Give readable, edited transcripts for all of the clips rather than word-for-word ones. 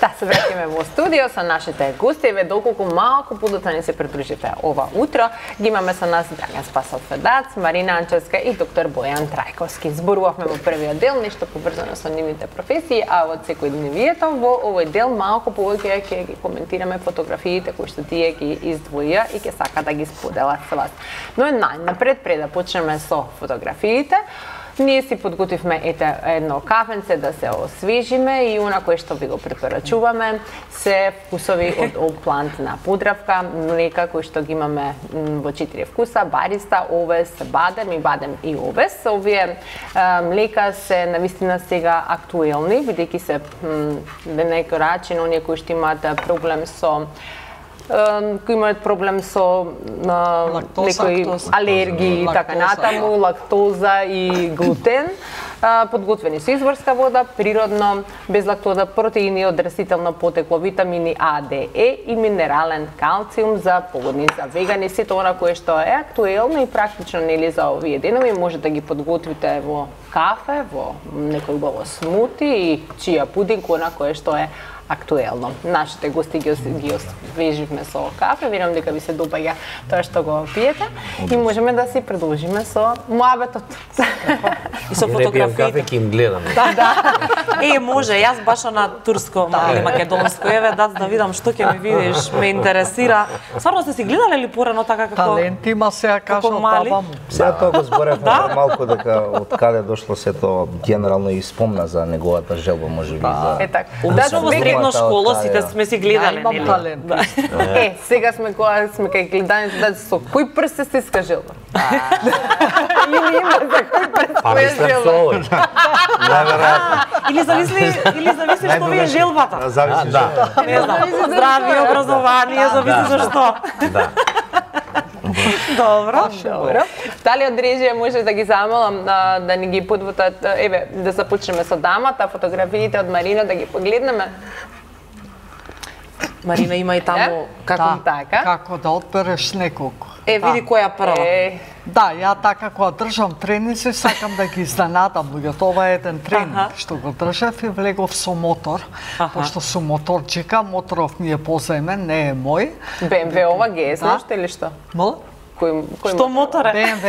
Да, се враќаме во студио со нашите гости. Еве доколку малку подоцна ни се придружите ова утро, ги имаме со нас Драган Спасов Федац, Марина Анчевска и доктор Бојан Трајковски. Зборувавме во првиот дел нешто поврзано со нивните професии, а во секојдневието во овој дел малку повеќе ќе ги коментираме фотографиите кои што тие ги издвоија и ќе сака да ги споделат со вас. Но најнапред, пред да почнеме со фотографиите, ние си подготвивме едно кафенце да се освежиме и она кое што ви го препорачуваме се вкусови од Опланд на Подравка, млека кои што ги имаме во 4 вкуса, бариста, овес, бадем и овес. Овие млека се навистина сега актуелни, бидејќи се на некој начин оние кои што имаат проблем со кои имаат проблем со некои алергии и така натаму, лактоза и глутен, подготвени со изворска вода, природно, без лактоза, протеини од растително потекло, витамини А, Д, Е и минерален калциум за погодни, за вегани, сето она кое што е актуелно и практично нели за овие денови, може да ги подготвите во кафе, во некој убаво смути и чија пудинг, она кое што е актуелно. Нашите гости ги освеживме со кафе, верувам дека ви се допаѓа тоа што го пиете и можеме да си продолжиме со муабетот. И со фотографиите. Кафе ќе им гледам. Да. Може, јас баш на турско или македонско, еве да видам што ќе ми видиш, ме интересира. Стварно сте си гледале ли порано така како талент има, сега кажам баба му. Сега тоа го зборевме малку дека од каде дошло сето генерално и спомна за неговата желба можеби за. Е така. Средно школа сите сме си гледале, нели? Талент. Сега сме кога сме кај гледањето да со кој прст се стиска желба? Или има за кој прст е желба? Или зависи што ви е желбата. Зависи што. Не знам, здравје, образование, зависи за што. Да. Добро. Дали од режија може да ги замолам да ни ги подвотат, еве, да започнеме со дамата, фотографиите од Марина да ги погледнеме. Марина има и таму како да одбереш неколку. Види која прва. Да, ја така кога држам тренинзи, сакам да ги изненадам луѓето. Ова е еден тренинг што го држав и влегов со мотор, пошто сум моторџика, моторов ми е позајмен, не е мој. BMW ова ГС нешто или што? Што мотор е? BMW.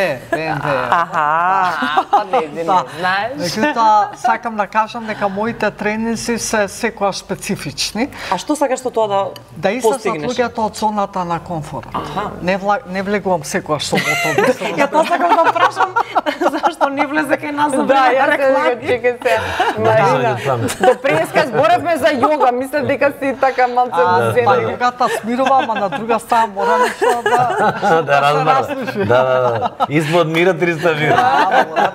Не знаеш. Меѓутоа, сакам да кажам дека моите тренинзи се секогаш специфични. А што сакаш со тоа да излезат луѓето од зоната на комфорт. Не влегувам секогаш со мотор. Ја тоа сакам да прашам зашто не влезе кај нас за реклами. Чекај се. Марина, до преска зборевме за јога, мислев дека си така малце музеја. Па јогата смирува, ама на друга страна мора нешто да Да. Испод мира 300 мира.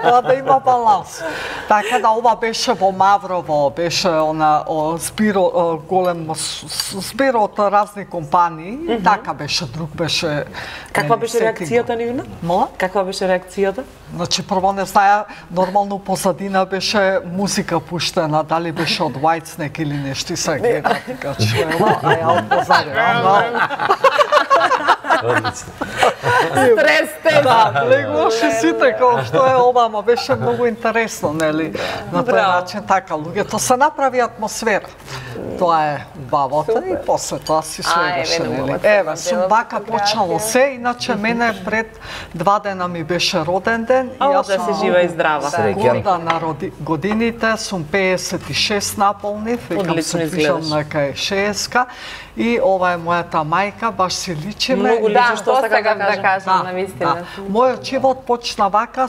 Тоа да има баланс. Така да ова беше во Маврово, беше збиро голем збир од разни компании, така беше, друг беше. Каква беше реакцијата нивна? Каква беше реакцијата? Значи прво не знаја, нормално позадина беше музика пуштена, дали беше од Whitesnake или нешто, се гледа така чуела, а ја од позадина. Стресте! Да, влегуваше сите како што е ова, ама беше многу интересно, нели? На тој начин така, луѓето се направи атмосфера. Тоа е бавото и после тоа си следеше, нели? Еве, сум бака почнало се, иначе мене пред 2 дена ми беше роден ден и јас да се жива и здрава. Горда на годините, сум 56 наполнив, викам се движам на кај 60-ка и ова е мојата мајка, баш си личиме. Многу личи што сакам да кажам, навистина. Мојот живот почна вака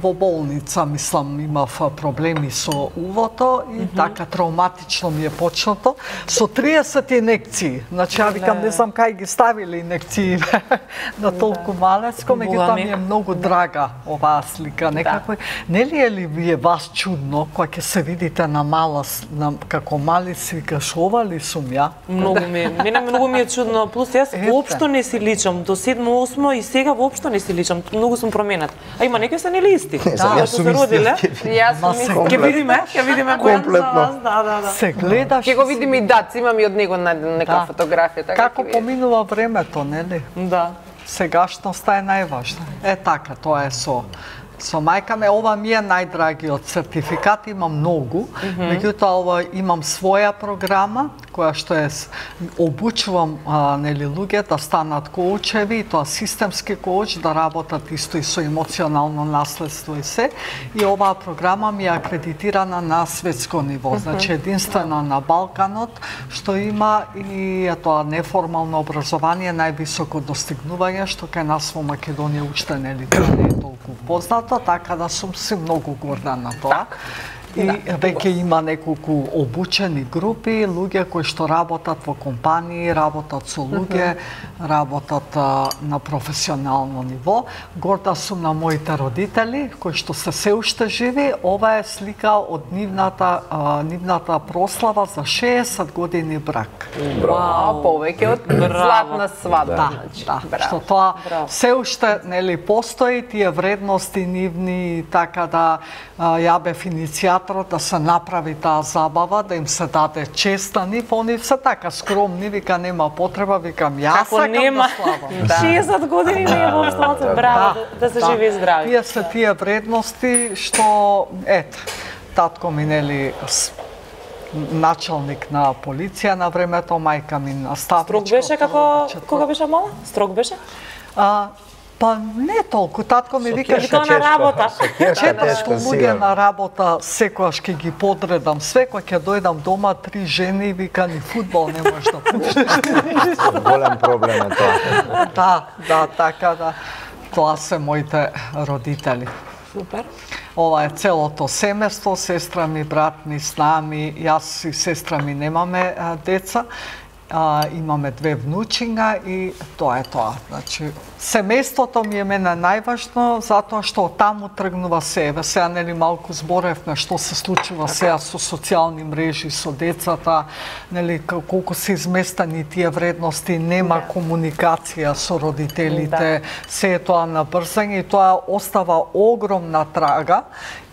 во болница, мислам, имав проблеми со увото и така травматично ми е почнато. Со 30 инекции. Значи, ја викам, не знам кај ги ставиле инекции на толку малецко, меѓутоа ми е многу драга оваа слика. Некако, нели е ли ви е вас чудно, кога ќе се видите на мала, како мали си, викаш, ова ли сум ја? Мене многу ми е чудно, плюс јас воопшто не си личам, до 7-8 и сега воопшто не си личам, многу сум променет. А има некои се нели исти? Јас сум исти. Ќе видиме комплетно. Да. Се гледаш. Ќе го видиме и Дац, имам и од него нека фотографија. Како поминува времето, нели? Да. Сегашноста е најважна. Е така, тоа е со Со мајка ме, ова ми е најдрагиот сертификат, имам многу, меѓутоа ова имам своја програма која што е обучувам нели луѓе да станат коучеви, тоа системски коуч, да работат исто и со емоционално наследство и се. И оваа програма ми е акредитирана на светско ниво, значи единствена на Балканот, што има и тоа неформално образование, највисоко достигнување, што кај нас во Македонија уште нели тоа не е толку познато, така да сум си многу горда на тоа. И веќе има неколку обучени групи, луѓе кои што работат во компании, работат со луѓе, работат на професионално ниво. Горда сум на моите родители, кои што се уште живи. Ова е слика од нивната прослава за 60 години брак. Вау, повеќе од златна свадба. Да, што тоа се уште нели постои, тие вредности нивни, така да ја бев иницијатор да се направи таа забава, да им се даде честани, они се така скромни, вика нема потреба, викам јас сакам да славам. 60 години не е воопшто, браво, да се живи и здрави. Тие се тие вредности што ето, татко ми нели началник на полиција на времето, мајка ми наставничка. Строг беше како кога беше мала? Строг беше? Па не толку, татко ми викаше тоа на работа. 400 луѓе на работа, секојаш ќе ги подредам, све кога ќе дојдам дома, 3 жени, вика ни фудбал не можеш да пуштиш. Голем проблем е тоа. Да, така да. Тоа се моите родители. Супер. Ова е целото семејство, сестра ми, брат ми, снами, јас и сестра ми немаме деца. Имаме 2 внучинга и тоа е тоа. Значи, семејството ми е мене најважно, затоа што таму тргнува се. Сега нели малку зборевме што се случува сега со социјални мрежи, со децата, нели колку се изместени тие вредности, нема комуникација со родителите, се е тоа на брзање и тоа остава огромна трага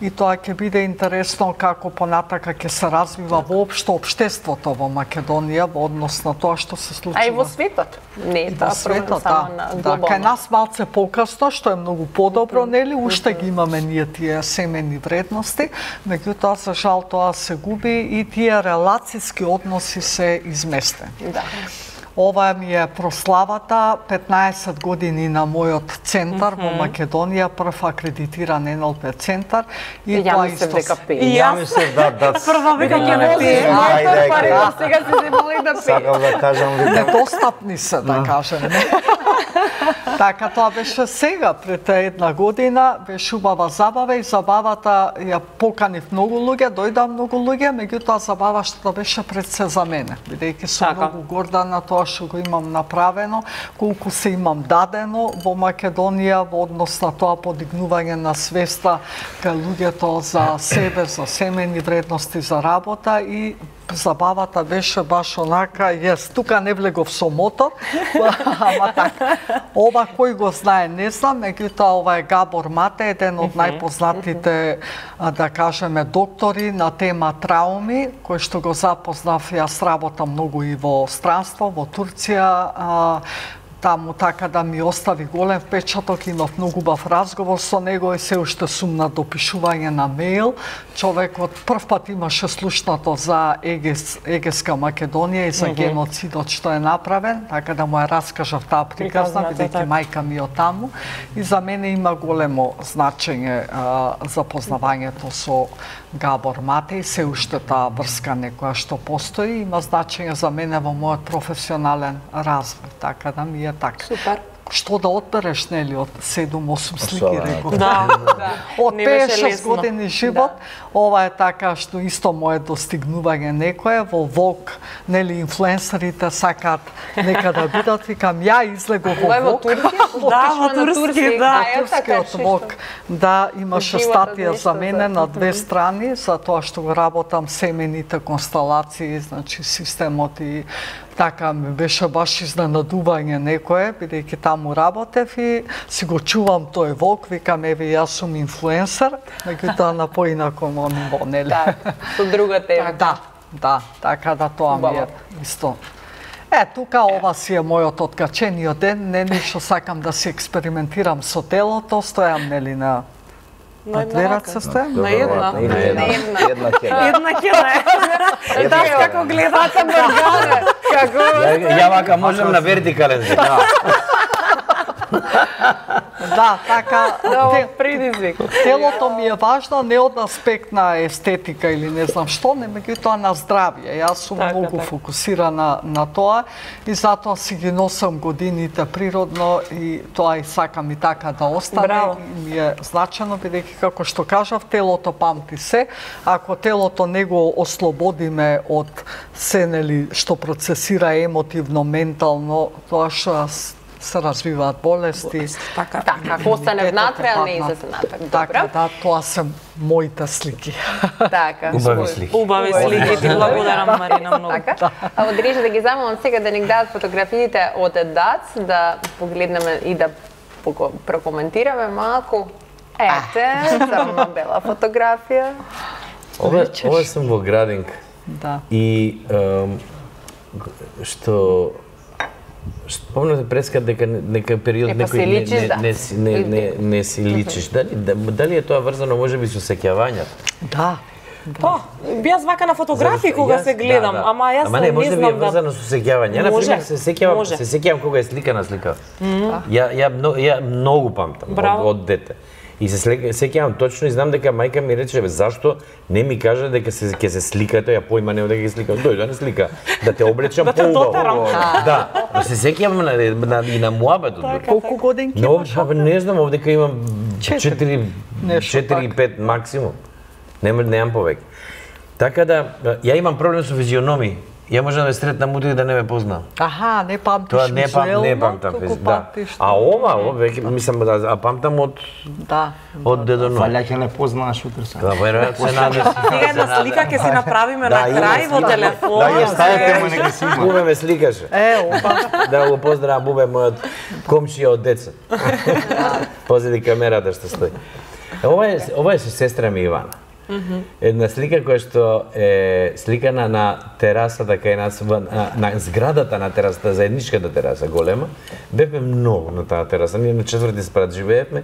и тоа ќе биде интересно како понатака ќе се развива воопшто општеството во Македонија во однос на тоа што се случува. А и во светот. Не е тоа проблем само на глобално. Кај нас малце покасно, што е многу подобро, нели, уште ги имаме ние тие семени вредности, меѓутоа за жал тоа се губи и тие релацијски односи се изместени. Да. Ова ми е прославата 15 години на мојот центар во Македонија, прв акредитиран НЛП центар и тоа исто. И ја мислев да. Прва вика ќе ме пие. Сега се моли да пие. Сакам да кажам недостапни се, да кажем. Така, тоа беше сега, пред една година, беше убава забава и забавата ја поканив многу луѓе, дојда многу луѓе, меѓутоа забаваштото беше пред се за мене, бидејќи сум многу горда на тоа што го имам направено, колку се имам дадено во Македонија во однос на тоа подигнување на свеста кај луѓето за себе, за семени вредности за работа и забавата беше баш онака, тука не влегов со мотор, ама така. Ова кој го знае, не знам, меѓутоа ова е Габор Мате, еден од најпознатите, да кажеме, доктори на тема трауми, кој што го запознав, јас работам многу и во странство, во Турција, таму така да ми остави голем впечаток, имав многу убав разговор со него и се уште сум на допишување на мејл. Човекот прв пат имаше слушнато за Егеска Македонија и за геноцидот што е направен, така да му ја раскажав таа приказна, бидејќи мајка ми од таму. И за мене има големо значење запознавањето со Габор Мате и се уште таа врска некоја што постои, има значење за мене во мојот професионален развој, така да ми е така. Супер. Што да одбереш, нели, од 7-8 слики, реков. Да. Од 5-6 години живот, ова е така што исто мое достигнување некое, во Вог, нели, инфлуенсерите сакаат нека да бидат, викам, ја излегов во Вог. Да, во турски, да. Турскиот Вог, да, имаше статија за мене на 2 страни, за тоа што го работам семените констелации, значи системот и така ми беше баш изненадување некое, бидејќи таму работев и си го чувам тој Вог, викам, еве, јас сум инфлуенсер, меѓутоа на поинако ниво, нели? Да, со друга тема. Да, така да тоа ми е исто. Тука ова си е мојот откачениот ден, не ништо сакам да си експериментирам со телото, стојам, нели, на На две раце стојам? На една. Една кена. Една кена е. Да, како гледате Бургане, како... Ја вака можам на вертикален зид. Да, така, предизвик. телото ми е важно не од аспект на естетика или не знам што, не меѓутоа на здравје. Јас сум многу фокусирана на тоа и затоа си ги носам годините природно и тоа и сакам и така да остане. И ми е значено, бидејќи како што кажав, телото памти се. Ако телото не го ослободиме од се, нели, што процесира емотивно, ментално, тоа што се развиваат болести. Така. Ако остане внатре, а не излезе напред. Така, да, тоа се моите слики. Така. Убави слики. Убави слики, ти благодарам, Марина, многу. Така. А од Рижа да ги замолам сега да ни дадат фотографиите од ДАЦ, да погледнеме и да прокоментираме малку. Ете, само бела фотографија. Ова сум во Градинка. Да. И што спомнате преска дека нека период некој не си личиш. Дали е тоа врзано можеби со сеќавањето? Да. Па, јас вака на фотографии кога се гледам, ама јас не може би е знам врзано со сеќавање. На пример се сеќавам кога е сликана слика. Ја многу памтам од дете. И се сеќавам точно и знам дека мајка ми рече, зашто не ми кажа дека ќе се сликате, ја појма нема дека ќе слика. Дојде да не слика, да те облечам поубаво. Да, се сеќавам и на муабетот. Колку годинки имаш? Не знам, овдека имам 4-5 максимум. Немам повеќе. Така да, ја имам проблем со физиономии. Ја можам да сретнам утре да не ме позна. Аха, не памтиш визуелно? Не памтам, да. А ова веќе мислам да памтам од дедо Ној. Валја ќе не познаеш утре сега. Да, веројатно се надев. Сега една слика ќе си направиме на крај во телефон. Да, ја ставите му нека си има. Бубе ме сликаше. Да го поздравам Бубе, мојот комшија од деца. Позади камерата што стои. Ова е со сестра ми Ивана. Една слика која што е сликана на терасата кај нас, на зградата на терасата, заедничката тераса голема. Бевме многу на таа тераса, ние на 4-ти спрат живеевме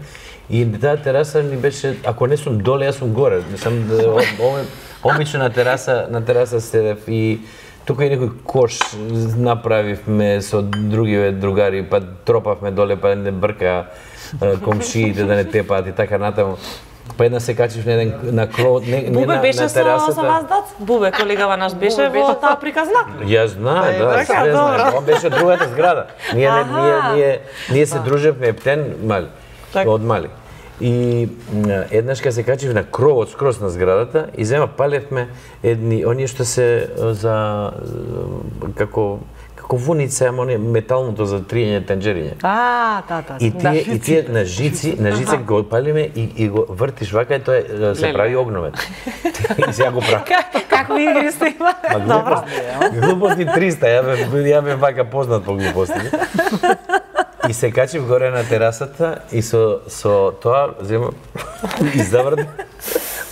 и таа тераса ни беше, ако не сум доле, јас сум горе. Мислам, обично на тераса седев и тука и некој кош направивме со другиве другари, па тропавме доле, па не брка комшиите да не тепаат и така натаму. Па една се качив на еден на кров, Бубе беше со вас дац? Бубе, колегава наш беше во таа приказна? Ја знае, да, се знае. Он беше од другата зграда. Ние се дружевме ептен мали, од мали. И еднаш кога се качив на кровот скроз на зградата и зема палевме оние што се за како вуница, ама оние металното за триење тенџериње. Да. И тие на жици го палиме и го вртиш вака и тоа се прави огновет. И сега го прави. Како игри се има? Добро. Глупости 300, ја бев вака познат по глупости. И се качив горе на терасата и со тоа зема и заврт.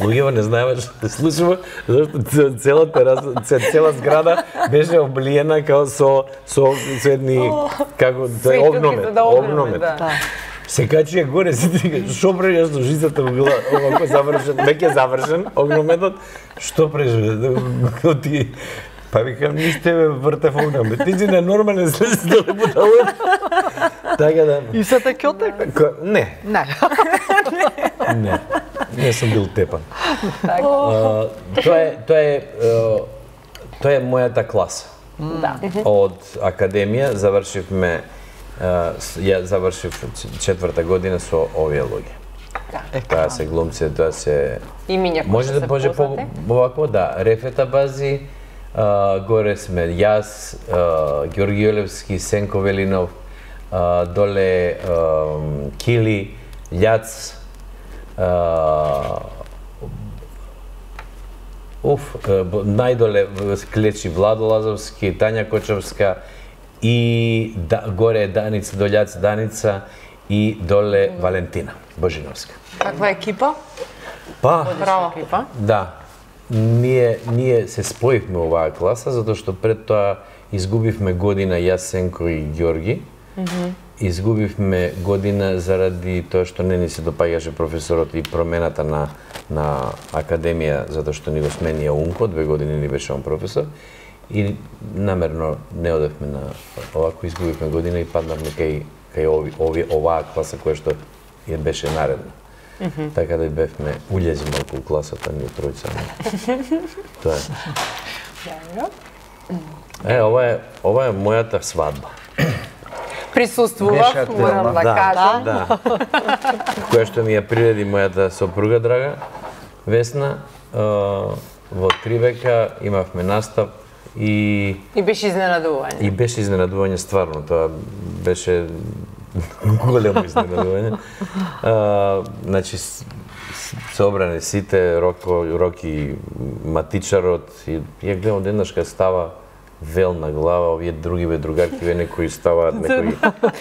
Луѓето не знаеме што се случува, зашто цела тераса, цела зграда беше облиена као со едни како огномет. Се качија горе, сите што прежа со жицата овако завршен, веќе завршен огнометот, што прежа ти па викам ниште ме вртев огномет. Ти си ненормален слез доле буталот. Така да. И се те кјоте? Не. Не сум бил тепан. Тоа е мојата класа. Од академија завршивме, ја завршив 4-та година со овие луѓе. Тоа се глумци, тоа се имиња кои се познати. Овако, да, Рефета Бази, горе сме јас, Ѓорги Јолевски, Сенко Велинов, доле Кили, Љац, најдоле клечи Владо Лазовски, Тања Кочовска и горе Даница, до Љац Даница и доле Валентина Божиновска. Каква екипа? Па, екипа? Да. Ние се споивме оваа класа, затоа што пред тоа изгубивме година јас, Сенко и Ѓорги. изгубивме година заради тоа што не ни се допаѓаше професорот и промената на академија, затоа што ни го сменија Унко, 2 години ни беше он професор, и намерно не одевме на овако, изгубивме година и паднавме кај оваа класа која што ја беше наредна. Така да бевме улези малку у класата, ние тројца. Тоа е. Ова е мојата свадба. Присуствував, морам да кажам. Да. Која што ми ја приреди мојата сопруга драга, Весна, во 3 века имавме настап и беше изненадување. И беше изненадување стварно, тоа беше големо изненадување. Значи собрани сите, Роки матичарот и ја гледам одеднаш кога става вел на глава, овие други другарки, некои ставаат, некои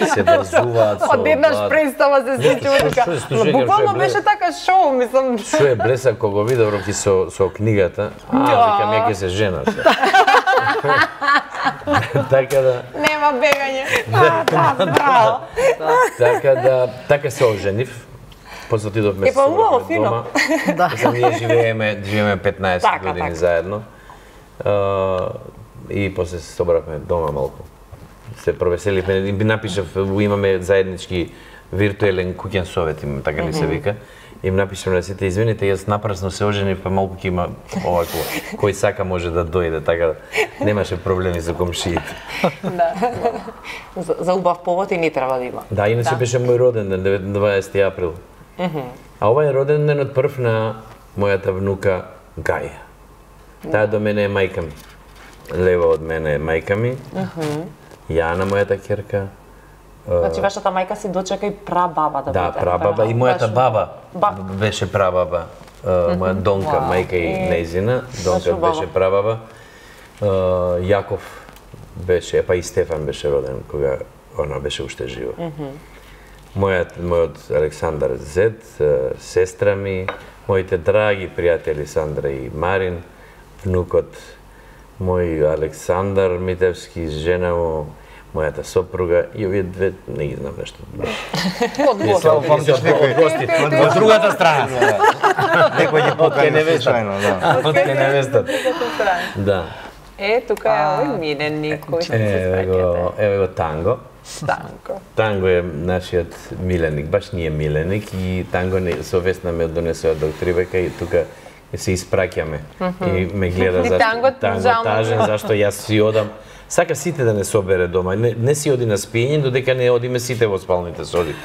се врзуваат со... Одеднаш представа се случува така. Буквално беше така шоу, мислам. Што е блеса кога го видов Роки со книгата, викам ја ќе се женат. Така да... Нема бегање. Браво. Така се оженив. После отидовме па убаво, фино. Дома. Ние живееме 15 години заедно. И после се собравме дома малку. Се провеселивме, би напишав, имаме заеднички виртуелен куќен совет, така ни се вика. Им напишам на сите, извините, јас напрасно се оженив, па малку ќе има овако, кој сака може да дојде, така да немаше проблеми за комшиите. Да. За убав повод и не треба да има. Да, иначе беше мој роден ден, 20 април. А ова е роден денот прв на мојата внука Гаја. Таа до мене е мајка ми. Лево од мене е мајка ми. Јана, мојата ќерка. Значи, вашата мајка си дочека и прабаба да биде. Да, прабаба и мојата баба беше прабаба. Моја Донка, мајка и нејзина. Донка беше прабаба. Јаков беше, па и Стефан беше роден кога она беше уште жива. Мојот Александар Зет, сестра ми, моите драги пријатели Сандра и Марин, внукот мој Александар Митевски, жена му, мојата сопруга и овие две, не ги знам нешто. Само памтиш некој Од другата страна. Некој ќе покани случајно, да. Од кај невестата. Да. Тука е овој миленик кој се спаќате. Еве го Танго. Танго е нашиот миленик, баш ние миленик и Танго со Весна ме донесува до 3 века и тука се испраќаме. И ме гледа зашто Танго тажен, зашто јас си одам. Сака сите да не собере дома. Не си оди на спиење, додека не одиме сите во спалните соби.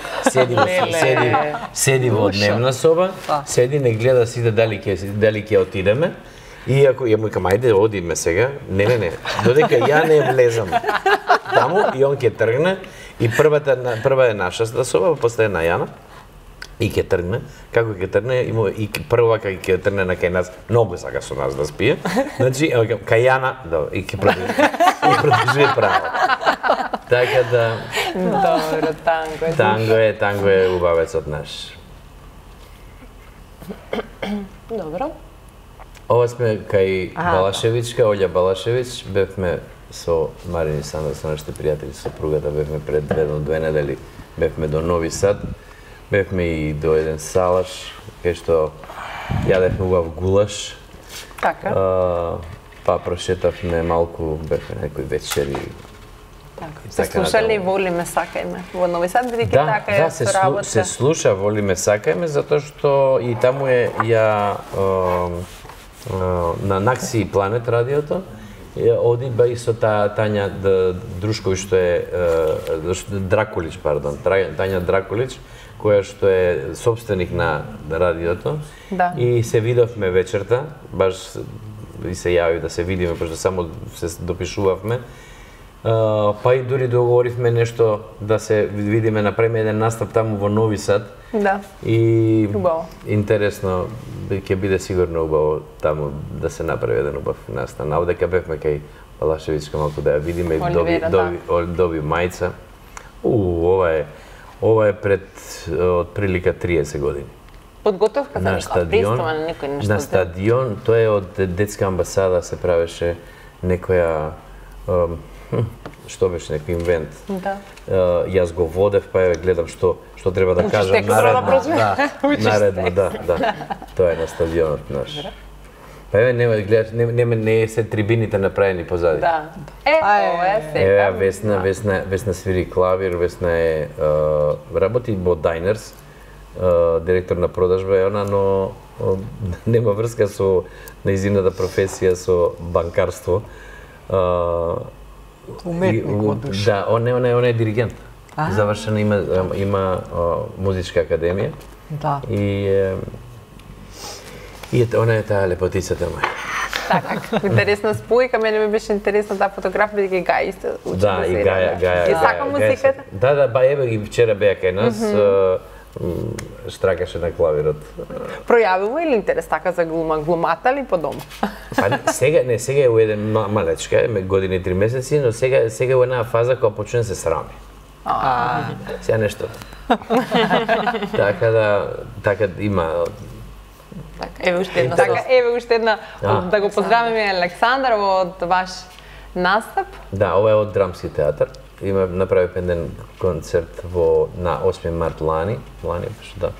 Седи во дневна соба, седи, не гледа сите дали ќе отидеме. И ако ја му викам, ајде, одиме сега. Не. Додека ја не влезам таму и он ќе тргне. И прва е нашата соба, после е на Јана. И ќе тргне. Како ќе тргне, и прва ќе тргне на кај нас, многу сака со нас да спие. Значи, кај Јана, и ќе продолжи право. Така да... Добро, Танго е убавецот наш. Добро. Ова сме кај Балашевичка, Олја Балашевич, бевме со Марин и Сандра, со нашите пријатели, сопругата, бевме пред 2 недели, бевме до Нови Сад, бевме и до еден салаш, кај што јадевме убав гулаш. Така. Па прошетавме малку, бевме некои вечери. Се слушали Волиме сакајме во Нови Сад, бидејќи така е со работа? Да, се слуша Волиме сакајме, затоа што и таму е на Накси Планет радиото, оди ба и со Тања Друшковиќ, што е Дракулич, пардон, Тања Дракулич, која што е собственик на радиото. Да. И се видовме вечерта, баш и се јави да се видиме, пошто само се допишувавме. Па и дури договоривме нешто да се видиме, направиме еден настап таму во Нови Сад. Да. И убаво. Интересно, ќе биде сигурно убаво таму да се направи еден убав настан. А одека бевме кај Балашевичка малку да ја видиме и доби мајца. Ова е пред отприлика 30 години. Подготовка за некој На стадион, тоа е од детска амбасада се правеше некоја што беше некој инвент. Да. Јас го водев, па гледам што треба да кажам наредно, да. Тоа е на стадионот наш. Па не е се трибините направени позади. Да. Ова е сега. Весна свири клавир, Весна работи во Diners, директор на продажба е она, но нема врска со нејзината професија со банкарство. Уметник Да, он е диригент. Завршена има музичка академија. Да. И она е таа лепотицата моја. Така, интересна спојка, мене ми беше интересна таа фотографија, бидејќи Гај исто учи Да, и Гаја. И сака музиката? Да, ба еве и вчера беа кај нас, штракаше на клавирот. Пројавува или интерес така за глума? Глумата ли по дома? Па сега е у еден малечка, година и 3 месеци, но сега е у една фаза кога почне да се срами. Сега нешто. Така има. Еве уште една. Така, еве уште една, да го поздравиме Александар од ваш настап. Да, ова е од Драмски театар. Направи еден концерт на 8 март лани беше, да.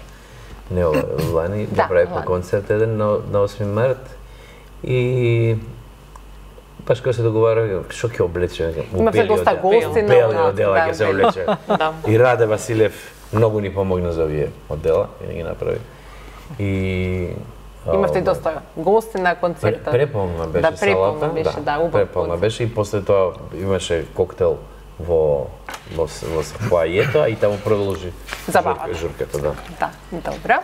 Не ова, лани, направивме концерт еден на 8 март и баш кога се договарав, што ќе облече? Имавте доста гости на бели одела ќе се облече. Да. И Раде Василев многу ни помогна за овие одела и ги направи. И имавте доста гости на концертот. Преполна беше салата. Преполна беше и после тоа имаше коктел во фоајето, и таму продолжи журката, да. Да, добро.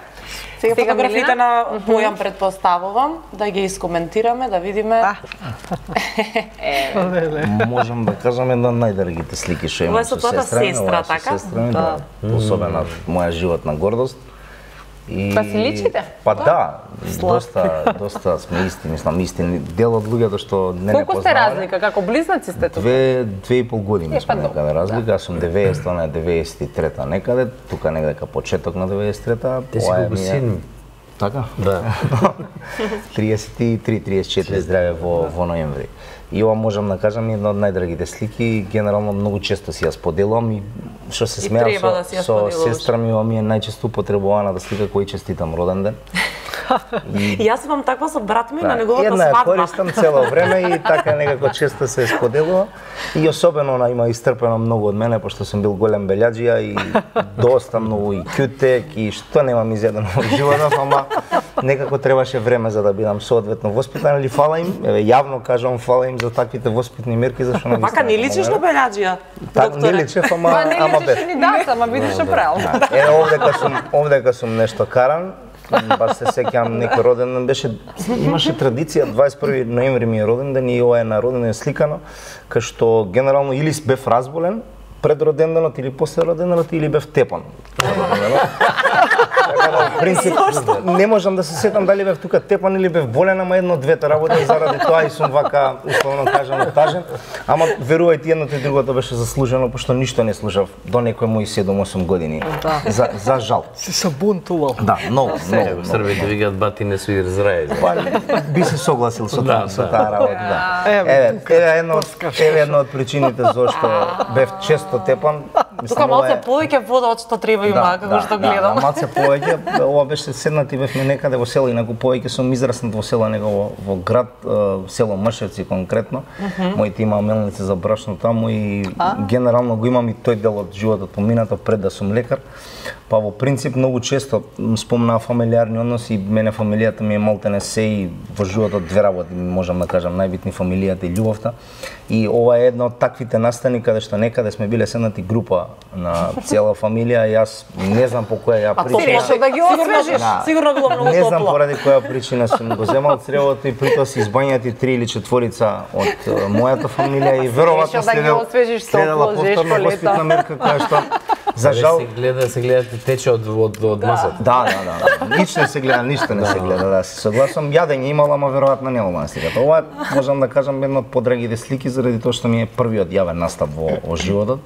Сега фотографите на Бојан предпоставувам да ги искоментираме, да видиме. Можам да кажам една од најдрагите слики што имам со сестра, така? Да. Особена моја животна гордост. Па си личите? Па да, доста сме исти, мислам, истини. Дел од луѓето што не Колку сте разлика, како близнаци сте тука? 2,5 години сме некаде разлика, јас сум 90, она е 93-та некаде, тука негде почеток на 93-та. Те си колку син. Така? Да. 33-34 здраве во ноември. И ова можам да кажам една од најдрагите слики, генерално многу често си ја споделувам и што се смеам со сестра ми, ова ми е најчесто употребуваната слика кој честитам роден ден. И јас имам таква со брат ми на неговата свадба. Една ја користам цело време и така некако често се споделува. И особено она има истрпено многу од мене, пошто сум бил голем белјаджија и доста многу и кютек и што немам изедено во животот, ама некако требаше време за да бидам соодветно воспитан, или фала им, еве јавно кажувам фала им за таквите воспитни мерки, зашто на Вака не личиш на белјаджија, доктор. Не личев, ама без. Не личиш ама видиш што правил. Овдека сум нешто каран. Баш се сеќавам некој роден ден имаше традиција 21 ноември ми е роден ден и ова е на роден ден сликано, кај што генерално или бев разболен пред роден денот или после роден денот или бев тепан. Така, принцип, не можам да се сетам дали бев тука тепан или бев болен, ама едно од двете работи, заради тоа и сум вака, условно кажано, тажен. Ама верувајте, едното и другото беше заслужено, пошто ништо не слушав до некој мои 7-8 години. За жал. Си се бунтувал. Да, многу. Србите викаат бати не се израели. Би се согласил со таа работа. Еве едно од причините зашто бев често тепан. Тука малце повеќе вода од што треба има, како што гледам. Да, малце повеќе. Ова беше седнати бевме некаде во село, инаку повеќе сум израснат во село, него во град, село Мршевци конкретно. Моите има мелници за брашно таму и генерално го имам и тој дел од животот поминато пред да сум лекар. Па во принцип многу често спомнаа фамилиарни односи, мене фамилијата ми е малтене се и во животот две работи, можам да кажам, најбитни фамилијата и љубовта. И ова е една од таквите настани каде што некаде сме биле седнати група на цела фамилија, јас не знам по која ја причина. Да ги освежиш. Сигурно било многу топло. Не знам поради која причина сум го земал цревото и притоа се избањати 3 или 4 од мојата фамилија и веројатно следела повторно воспитна мерка која што за жал се гледате тече од масата. Да. Ништо не се гледа, да се согласувам. Јадење имала, ама веројатно немало на сликата. Ова можам да кажам една од подрагите слики заради тоа што ми е првиот јавен настап во животот.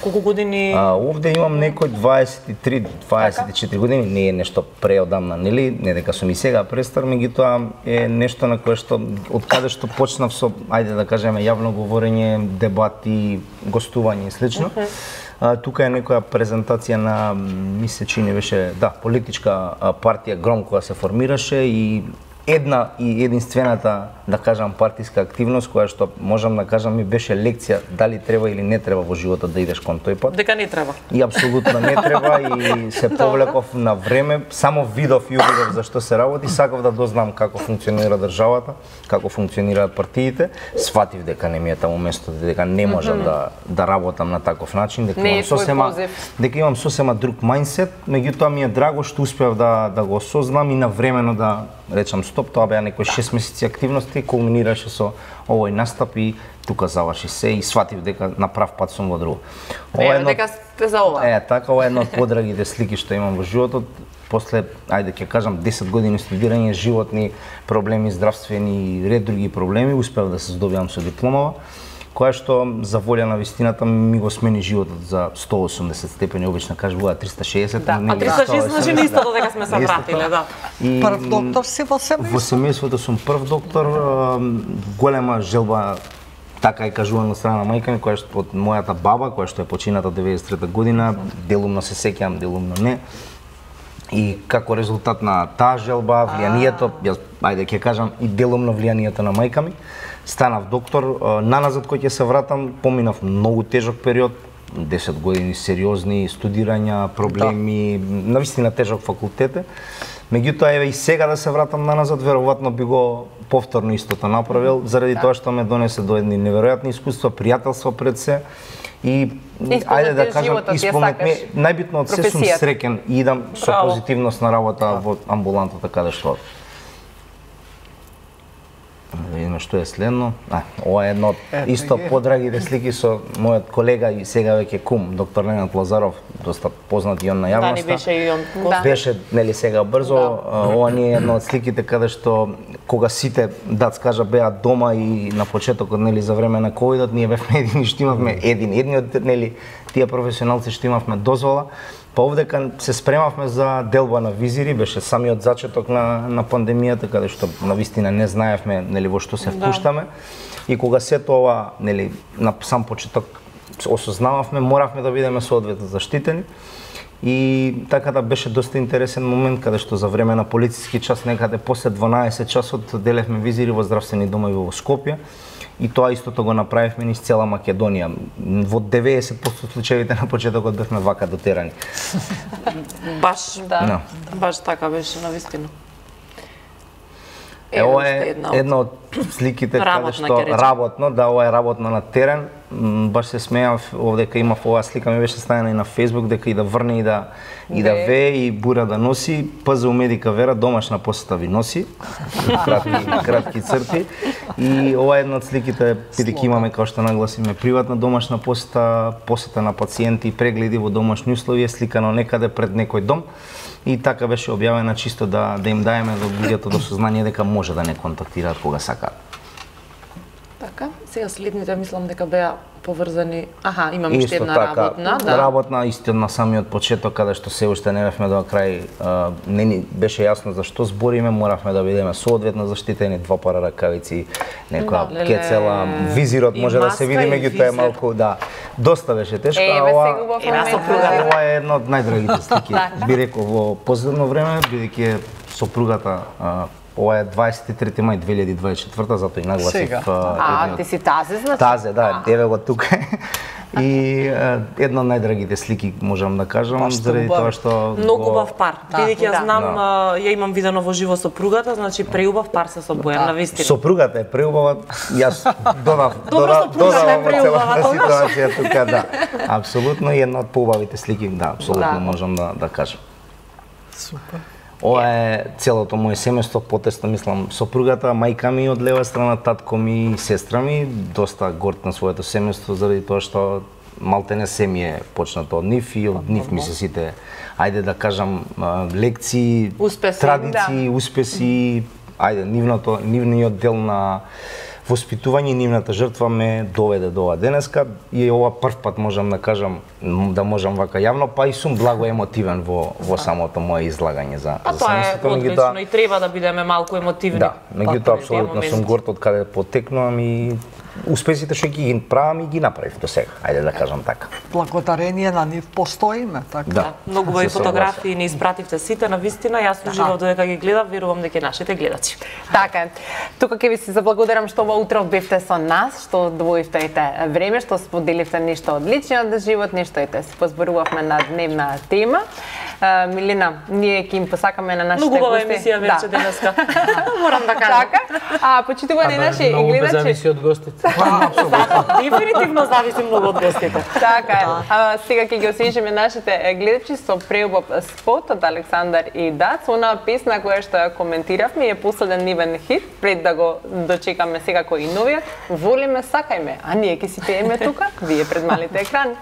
Колку години? Овде имам некој 23-24 години, не е нешто преодамна, нели? Не дека сум и сега престар, меѓутоа е нешто на кое што од каде што почнав со, ајде да кажеме, јавно говорење, дебати, гостување и слично. Тука е некоја презентација на, ми се чини беше, да, политичка партија Гром која се формираше и една и единствената, да кажам, партиска активност која што можам да кажам ми беше лекција дали треба или не треба во животот да идеш кон тој пат. Дека не треба. И апсолутно не треба и се повлеков на време, само видов и увидов за што се работи, сакав да дознам како функционира државата, како функционираат партиите, сватив дека не ми е таму место, дека не можам да работам на таков начин, дека имам сосема друг мајндсет, меѓутоа ми е драго што успеав да го осознам и навремено да речам стоп, тоа беа некои 6 месеци активности, кулминираше со овој настап и тука заврши се и сватив дека на прав пат сум во друго. Дека сте за ова. Така, ова е една од подрагите слики што имам во животот. После, ајде ќе кажам, 10 години студирање, животни проблеми, здравствени и ред други проблеми, успеав да се здобиам со дипломава, која што за волја на вистината ми го смени животот за 180 степени, обично кажуваа 360. Да, а 360 значи не истото дека сме се вратиле, да. Прв доктор си во семејството? Во семејството сум прв доктор, голема желба, така е кажувано од страна на мајка ми, која што од мојата баба, која што е почината 93 година, делумно се сеќавам, делумно не. И како резултат на таа желба, влијанието, јас ајде ќе кажам и делумно влијанието на мајка ми, станав доктор. Наназад кој ќе се вратам, поминав многу тежок период, 10 години сериозни студирања, проблеми, навистина тежок факултет. Меѓутоа еве и сега да се вратам наназад, веројатно би го повторно истото направил, заради тоа што ме донесе до едни неверојатни искуства, пријателства пред се. И ајде да кажам, исполнет ми, најбитно од се сум среќен и идам со позитивност на работа во амбулантата каде што. Да видиме што е следно. Ова е едно исто подрагите слики со мојот колега и сега веќе кум, доктор Ленат Лазаров, доста познат и он на јавноста. Да, беше и он. Беше, нели сега брзо, ова не е една од сликите каде што кога сите, да скажа, беа дома и на почетокот, нели, за време на ковидот, ние бевме едини што имавме едни од, нели, тие професионалци што имавме дозвола. Па овдека се спремавме за делба на визири, беше самиот зачеток на пандемијата, каде што навистина не знаевме, нели, во што се впуштаме. И кога сето ова, нели, на сам почеток осознававме, моравме да бидеме соодветно заштитени. И така да беше доста интересен момент, каде што за време на полициски час, некаде после 12 часот, делевме визири во здравствени домови во Скопје. И тоа истото го направивме низ цела Македонија. Во 90% случаевите на почетокот бевме вака дотерани. Баш, да. Баш така беше, навистина. Ова е една од сликите каде што работно, да, ова е работно на терен. Баш се смејав овдека имав оваа слика, ми беше ставена и на Facebook, дека и да врне и да вее и бура да носи. ПЗУ Медика Вера домашна посета ви носи. Кратки црти. И ова е една од сликите, бидејќи имаме, како што нагласиме, приватна домашна посета на пациенти, прегледи во домашни услови, сликано некаде пред некој дом. И така беше објавена чисто да им даеме до луѓето до сознание дека може да не контактираат кога сакаат. Така, сега следните мислам дека беа поврзани. Аха, имам уште една работна, да. Работна исто на самиот почеток, каде што се уште не бевме до крај, не ни беше јасно за што збориме, моравме да бидеме соодветно заштитени, 2 пара ракавици, некоја кецела, визирот може да се види, меѓутоа е малку, да, доста беше тешко. Ова е една од најдрагите слики, би рекол во последно време, бидејќи сопругата. Ова е 23 мај 2024, затоа и нагласив. Ти си Тазе, значи? Тазе, да, еве го тука. И една од најдрагите слики, можам да кажам, заради тоа што... Многу убав пар. Бидејќи ја знам, ја имам видено во живо сопругата, значи преубав пар се со Бојан, навистина. Сопругата е преубава, јас додав во целата ситуација тука, да. Апсолутно, и една од поубавите слики, да, апсолутно можам да кажам. Супер. Ова е целото моје семејство, потесно мислам сопругата, мајка ми од лева страна, татко ми и сестра ми, доста горд на своето семејство заради тоа што малтене се ми е почнато од нив и од нив ми се сите, ајде да кажам, лекции, традиции, успеси, ајде нивниот дел на воспитување, нивната жртва ме доведе до ова денеска и ова прв пат можам да кажам да можам вака јавно, па и сум благо емотивен во самото мое излагање за тоа е одлично и треба да бидеме малку емотивни. Да, меѓутоа апсолутно сум горд од каде потекнувам и успесите што ги правам и ги направив до сега, ајде да кажам така. Благодарение на нив постоиме, така. Да. Многу убави фотографии ни испративте сите, на вистина, јас уживав додека ги гледав, верувам дека нашите гледачи. Така е. Тука ќе ви се заблагодарам што ова утро бевте со нас, што одвоивте време, што споделивте нешто од личниот живот, нешто и се позборувавме на дневна тема. Милина, ние ќе им посакаме на нашите гости. Многу убава емисија вече денеска. Морам да кажам. Така. Почитувани наши Многу гледачи. зависи од гостите. Дефинитивно зависи многу од гостите. Така е. Сега ќе ги освежиме нашите гледачи со преубав спот од Александар и Дац. Онаа песна која што ја коментиравме е последен нивен хит, пред да го дочекаме секако и новиот. Волиме, сакајме, а ние ќе си пееме тука, вие пред малите екрани.